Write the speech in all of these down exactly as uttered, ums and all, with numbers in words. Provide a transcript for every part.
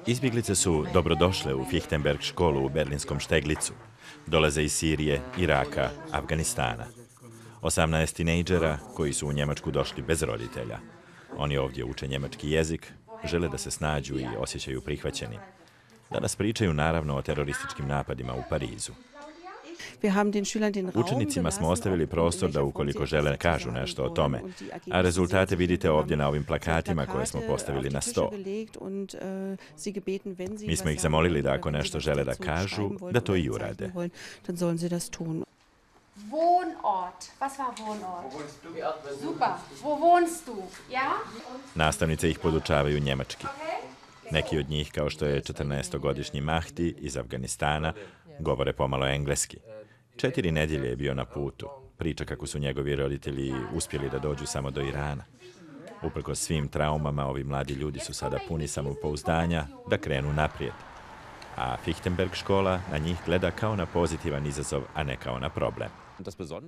Izbjeglice su dobrodošle u Fichtenberg školu u berlinskom Šteglicu. Dolaze iz Sirije, Iraka, Afganistana. osamnaest tinejdžera koji su u Njemačku došli bez roditelja. Oni ovdje uče njemački jezik, žele da se snađu i osjećaju prihvaćeni. Danas pričaju naravno o terorističkim napadima u Parizu. Učenicima smo ostavili prostor da ukoliko žele kažu nešto o tome, a rezultate vidite ovdje na ovim plakatima koje smo postavili na sto. Mi smo ih zamolili da ako nešto žele da kažu, da to i urade. Wohnort. Was war Wohnort? Super. Wo wohnst du? Ja? Nastavnice ih podučavaju njemački. Neki od njih, kao što je četrnaestogodišnji Mahdi iz Afganistana, govore pomalo engleski. Četiri nedjelje je bio na putu. Priča kako su njegovi roditelji uspjeli da dođu samo do Irana. Uprkos svim traumama, ovi mladi ljudi su sada puni samopouzdanja da krenu naprijed. A Fichtenberg škola na njih gleda kao na pozitivan izazov, a ne kao na problem.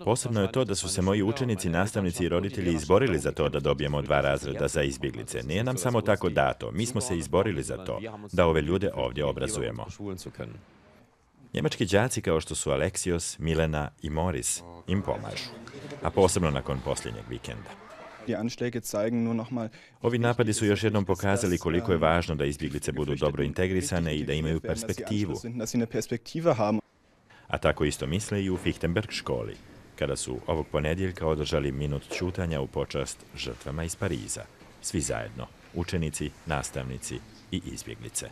Posebno je to da su se moji učenici, nastavnici i roditelji izborili za to da dobijemo dva razreda za izbjeglice. Nije nam samo tako dato, mi smo se izborili za to, da ove ljude ovdje obrazujemo. Njemački đaci kao što su Aleksios, Milena i Moris im pomažu, a posebno nakon posljednjeg vikenda. Ovi napadi su još jednom pokazali koliko je važno da izbjeglice budu dobro integrisane i da imaju perspektivu. A tako isto misle i u Fichtenberg školi, kada su ovog ponedjeljka održali minut ćutanja u počast žrtvama iz Pariza. Svi zajedno, učenici, nastavnici i izbjeglice.